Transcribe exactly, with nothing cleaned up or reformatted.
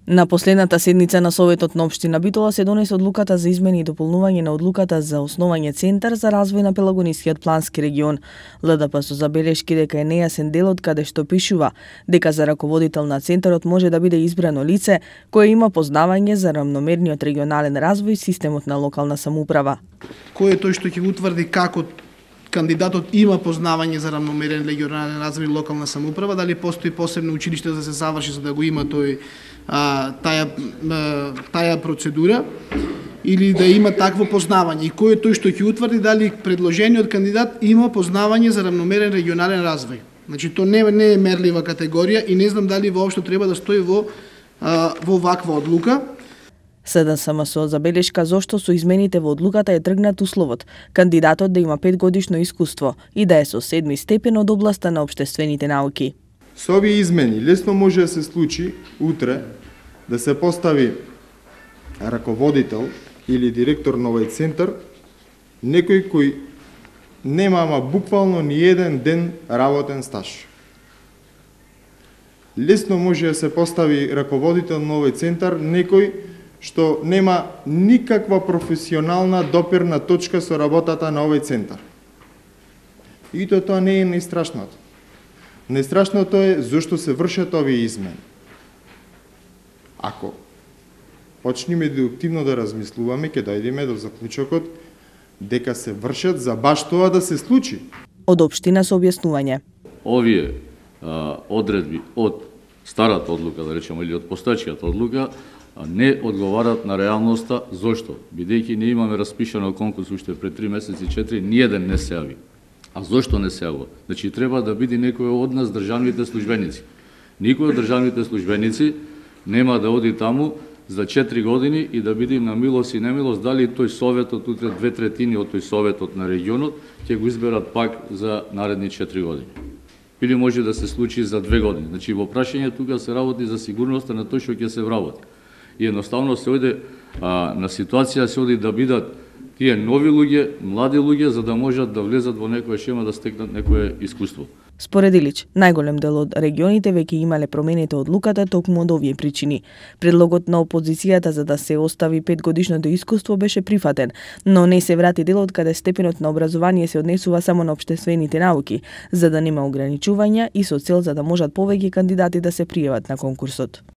На последната седница на Советот на општина Битола се донесе одлуката за измени и дополнување на одлуката за основање Центар за развој на Пелагонискиот плански регион. ЛДП со забелешки дека е нејасен делот каде што пишува дека за раководител на центарот може да биде избрано лице кое има познавање за рамномерниот регионален развој и системот на локална самоуправа. Кој е тој што ќе утврди како кандидатот има познавање за рамномерен регионален развој и локална самоуправа, дали постои посебно училиште да се заврши за да го има тој а, таја а, таја процедура или да има такво познавање и кој е тој што ќе утврди дали предложениот кандидат има познавање за рамномерен регионален развој. Значи тоа не, не е мерлива категорија и не знам дали воопшто треба да стои во а, во ваква одлука. СДСМ со забелешка зошто со измените во одлуката е тргнат условот кандидатот да има петгодишно искуство и да е со седми степен од областа на општествените науки. Со овие измени лесно може да се случи утре да се постави раководител или директор на овој центар некој кој нема ама буквално ни еден ден работен стаж. Лесно може да се постави раководител на овој центар некој што нема никаква професионална допирна точка со работата на овој центар. И то тоа не е најстрашното. Најстрашното е зошто се вршат овие измени. Ако почнеме дедуктивно да размислуваме, ќе дојдеме до заклучокот дека се вршат за баш тоа да се случи. Од општина со објаснување. Овие а, одредби од старата одлука, да речеме, или од постоечката одлука, не одговарат на реалноста. Зошто? Бидејќи не имаме распишано конкурс уште пред три месеци и четири, ниеден не се јави. А зошто не се јавува? Значи треба да биде некој од нас државните службеници. Никој од државните службеници нема да оди таму за четири години и да биде на милост и немилост дали тој советот, утре две третини од тој советот на регионот ќе го изберат пак за наредни четири години. Или може да се случи за две години. Значи во прашање тука се работи за сигурноста на тој што ќе се вработи. И едноставно се оде а, на ситуација се оди да бидат тие нови луѓе, млади луѓе, за да можат да влезат во некоја шема да стекнат некое искуство. Според Илич, најголем дел од регионите веќе имале промените одлуката токму од овие причини. Предлогот на опозицијата за да се остави петгодишното искуство беше прифатен, но не се врати делот каде степенот на образование се однесува само на општествените науки, за да нема ограничувања и со цел за да можат повеќе кандидати да се пријават на конкурсот.